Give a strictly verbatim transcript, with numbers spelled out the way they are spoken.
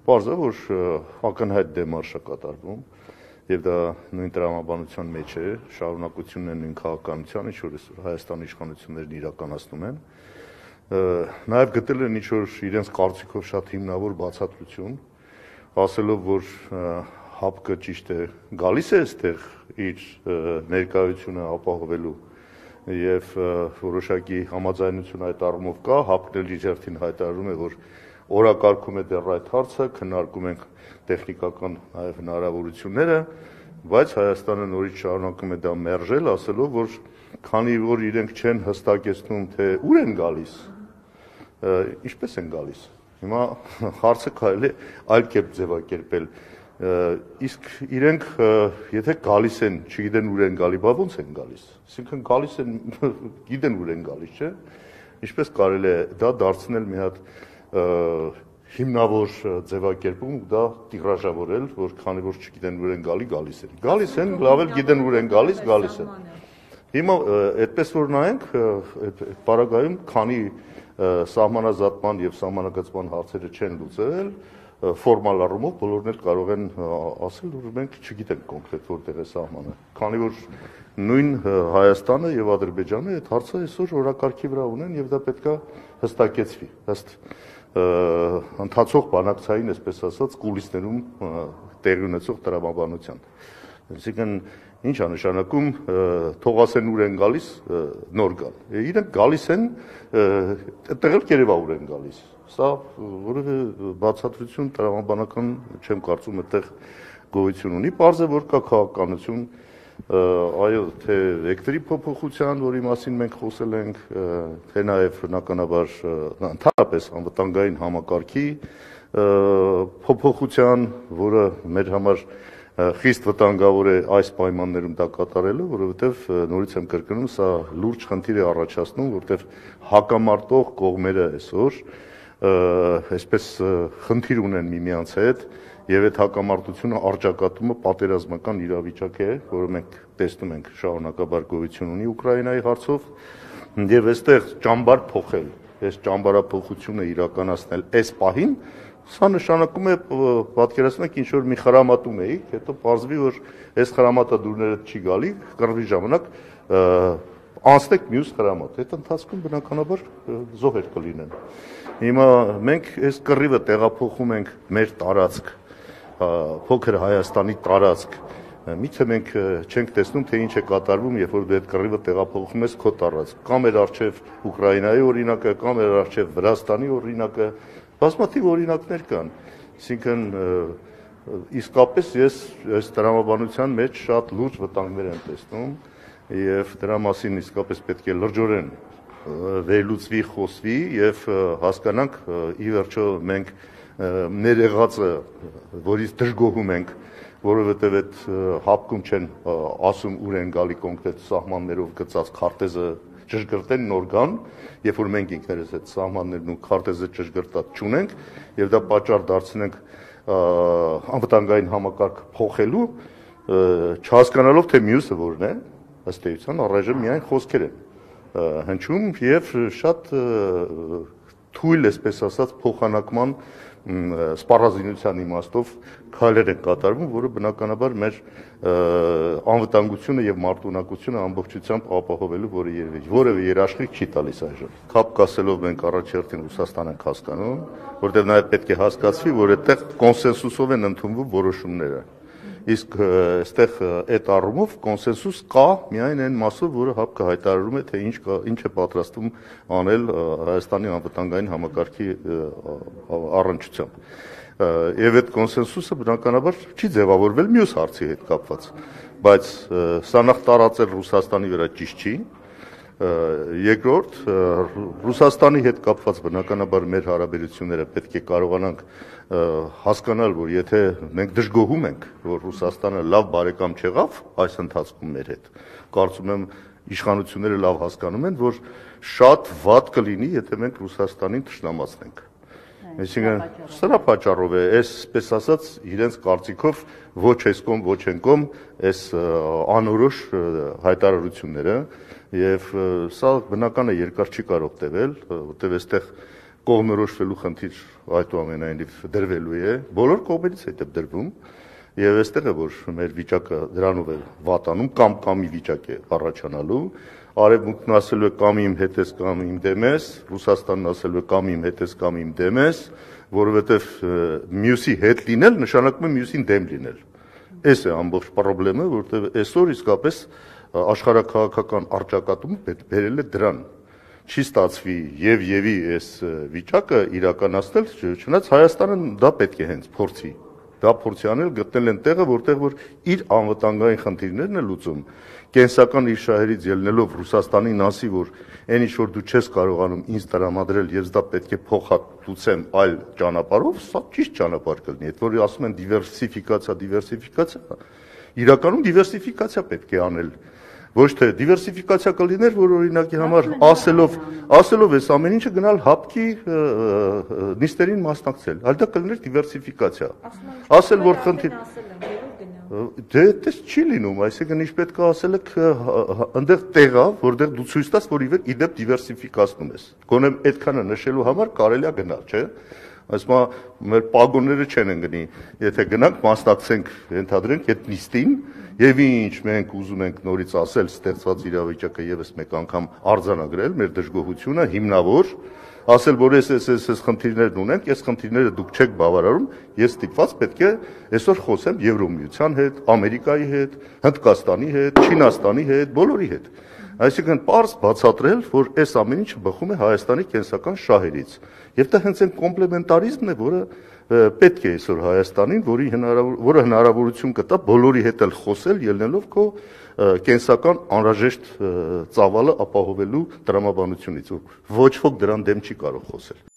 Պարզ է, որ ակնհայտ դեմարշ է կատարվում եւ դա նույն տրամաբանության մեջ է, շարունակությունն է նույն քաղաքականության, ինչ որ Հայաստանի իշխանություններն իրականացնում են։ Նաեւ գտել են ինչ որ իրենց կարծիքով շատ հիմնավոր բացատրություն, ասելով, որ ՀԱՊԿ ճիշտ է գալիս է այստեղ իր ներկայությունը ապահովելու եւ որոշակի համաձայնություն այդ առումով կա, ՀԱՊԿ-ն էլ իր հերթին հայտարարում է, որ օրակարգում է դեռ այդ հարցը, քննարկում ենք տեխնիկական նաև հնարավորությունները, բայց Հայաստանը նորից շարունակում է դա մերժել, ասելով, որ քանի որ իրենք չեն հստակեցնում, թե ուր են գալիս, ինչպես են գալիս։ Հիմա հարցը կարելի է այլ կերպ ձևակերպել, իսկ իրենք եթե գալիս են, չգիտեն ուր են գալի, բա ո՞նց են գալիս։ Այսինքն գալիս են, գիտեն ուր են գալիս, չէ՞։ Ինչպես կարելի է դա դարձնել մի հատ հիմնավոր ձևակերպում դա տիրաժավորել, որ քանի որ չգիտեն ուր են գալի, գալիս են։ Գալիս են, լավ էլ գիտեն ուր են գալիս, գալիս են։ Հիմա այդպես որ նայենք, այդ պարագայում քանի սահմանազատման եւ սահմանագծման հարցերը չեն լուծել, ֆորմալ առումով բոլորն էլ կարող են ասել, որ մենք չգիտենք կոնկրետ որտեղ է սահմանը։ Քանի որ նույն Հայաստանը եւ Ադրբեջանը այդ հարցը այսօր օրակարգի վրա ունեն եւ դա պետքա հստակեցվի, ըստ ընթացող բանակցային, այսպես ասած, կուլիսներում տեղի ունեցող տրամաբանության։ Այսինքն ինչ է նշանակում, թող ասեն ուր են գալիս, նոր գալ։ Իրենք գալիս են, այդտեղ էլ կերևա ուր են գալիս։ Սա որևէ բացատրություն տրամաբանական չեմ կարծում այդտեղ գոյություն ունի, պարզ է, որ կա քաղաքականություն, այո, թե վեկտորի փոփոխության, որի մասին մենք խոսել ենք, թե նաև բնականաբար ընդհանրապես անվտանգային համակարգի փոփոխության, որը մեր համար խիստ վտանգավոր է այս պայմաններում դա կատարելը, որովհետև նորից եմ կրկնում, սա լուրջ խնդիր է առաջացնում, որտեղ հակամարտող կողմերը այսօր այսպես խնդիր ունեն միմյանց հետ եւ այդ հակամարտությունը արճակատումը պատերազմական իրավիճակ է, որը մենք տեսնում ենք շարունակաբար գոյություն ունի Ուկրաինայի հարցով եւ այստեղ ճամբար փոխել, այս ճամբարափոխությունը իրականացնել այս պահին, սա նշանակում է պատկերացնեք ինչ որ մի խրամատում էիք, հետո պարզվի որ այս խրամատադուրները չի գալի, կռվի ժամանակ անցնեք մյուս խրամատ, այդ ընթացքում բնականաբար զոհեր կլինեն։ Հիմա մենք այս կռիվը տեղափոխում ենք մեր տարածք, փոքր Հայաստանի տարածք, միթե մենք չենք տեսնում, թե ինչ է կատարվում, երբ որ դու այդ կռիվը տեղափոխում ես քո տարածք, կամ էր արժև Ուկրաինայի օրինակը, կամ էր արժև Վրաստանի օրինակը, բազմաթիվ օրինակներ կան, այսինքն իսկապես ես այս տրամաբանության մեջ շատ լուրջ վտանգներ եմ տեսնում եւ դրա մասին իսկապես պետք է լրջորեն վերլուծվի, խոսվի եւ հասկանանք ի վերջո մենք ներեղածը, որից դժգոհում ենք, որովհետև այդ ՀԱՊԿ-ում չեն ասում ուր են գալի կոնկրետ սահմաններով գծած քարտեզը ճշգրտեն նոր գան, երբ որ մենք ինքներս այդ սահմաններն ու քարտեզը ճշգրտած չունենք եւ դա պատճառ դարձնենք անվտանգային համակարգ փոխելու, չհասկանալով թե մյուսը որն է, ըստ էության առայժմ միայն խոսքեր են հնչում եւ շատ թույլ, այսպես ասած, փոխանակման սպառազինության իմաստով քայլեր են կատարվում, որը բնականաբար մեր անվտանգությունը եւ մարտունակությունը ամբողջությամբ ապահովելու որևէ երաշխիք չի տալիս այժմ։ Քապ կասելով մենք առաջերտին Ռուսաստան ենք հասկանում, որտեղ նաեւ պետք է հասկացվի, որ այդտեղ կոնսենսուսով են ընդունվում որոշումները։ Իսկ այստեղ այդ առումով կոնսենսուս կա միայն այն մասով, որը ՀԱՊԿ-ը հայտարարում է, թե ինչ ինչ է պատրաստվում անել Հայաստանի անվտանգային համակարգի առնչությամբ։ Եվ այդ կոնսենսուսը բնականաբար չի ձևավորվել մյուս հարցի հետ կապված, բայց սա նախ տարածել Ռուսաստանի վրա ճիշտ չի։ Երկրորդ, Ռուսաստանի հետ կապված բնականաբար մեր հարաբերությունները պետք է կարողանանք հասկանալ, որ եթե մենք դժգոհում ենք, որ Ռուսաստանը լավ բարեկամ չեղավ այս ընթացքում մեր հետ, կարծում եմ իշխանությունները լավ հասկանում են, որ շատ վատ կլինի, եթե մենք Ռուսաստանին թշնամացնենք։ Այսինքն սրա պատճառով է, այսպես ասած, իրենց կարծիքով ոչ այս կողմ, ոչ այն կողմ, այս անորոշ հայտարարությունները եւ սա բնական է երկար չի կարող տևել, որտեղ այստեղ կողմնորոշվելու խնդիր այդուամենայնիվ դրվելու է, բոլոր կողմերից հետ է դրվում, եւ այստեղ է որ մեր վիճակը դրանով է վատանում կամ կամի վիճակ է առաջանալու, Արևմուտքն ասելու է կամ իմ հետ ես կամ իմ դեմ ես, Ռուսաստանն ասելու է կամ իմ հետ ես կամ իմ դեմ ես, որովհետեւ մյուսի հետ լինել նշանակում է մյուսին դեմ լինել։ Այս է ամբողջ խնդրը, որտեղ այսօր իսկապես աշխարհաքաղաքական առճակատումը բերել է դրան։ Չի ստացվի եւ եւի այս վիճակը իրականացնել, չնայած Հայաստանը դա պետք է հենց փորձի։ Դա փորձի անել գտնել են տեղը, որտեղ որ իր անվտանգային խնդիրներն է լուծում։ Կենսական իր շահերից ելնելով Ռուսաստանին ասի, որ այն ինչ որ դու չես կարողանում ինձ տրամադրել, ես դա պետք է փոխհատուցեմ այլ ճանապարհով, սա ճիշտ ճանապարհ կլինի։ Այդ որ ասում են դիվերսիֆիկացիա, դիվերսիֆիկացիա, իրականում դիվերսիֆիկացիա պետք է անել։ Ոչ թե դիվերսիֆիկացիա կլիներ, որ օրինակի համար ասելով, ասելով այս ամեն ինչը գնալ հապկի նիստերին մասնակցել, այլ դա կլիներ դիվերսիֆիկացիա։ Ասել որ խնդիր դե այդպես չի լինում, այսինքն ինչ պետք է ասել եք այնտեղ տեղա, որտեղ դու ցույց տաս, որ իդեպ դիվերսիֆիկացնում ես։ Գոնե այդքանը նշելու համար կարելի է գնալ, չէ՞։ Այսմա մեր պագոնները չեն ընկնի, եթե գնանք մասնակցենք, ենթադրենք այդ նիստին, եւ ինչ մենք ուզում ենք նորից ասել, ստեղծված իրավիճակը եւս մեկ անգամ արձանագրել մեր դժգոհությունը հիմնավոր, ասել որ այս այս այս խնդիրներն ունենք, այս խնդիրները դուք չեք բավարարում, ես ստիպված պետք է այսօր խոսեմ Եվրոմիության հետ, Ամերիկայի հետ, Հնդկաստանի հետ, Չինաստանի հետ, բոլորի հետ։ Այսինքն պարզ բացատրել, որ այս ամեն ինչը բխում է Հայաստանի կենսական շահերից։ Եվ դա հենց այն կոմպլեմենտարիզմն է, որը պետք է այսօր Հայաստանին, որի հնարավոր, որը հնարավորություն կտա բոլորի հետ էլ խոսել, ելնելով քո կենսական անհրաժեշտ ծավալը ապահովելու տրամաբանությունից։ Ոչ ոք դրան դեմ չի կարող խոսել։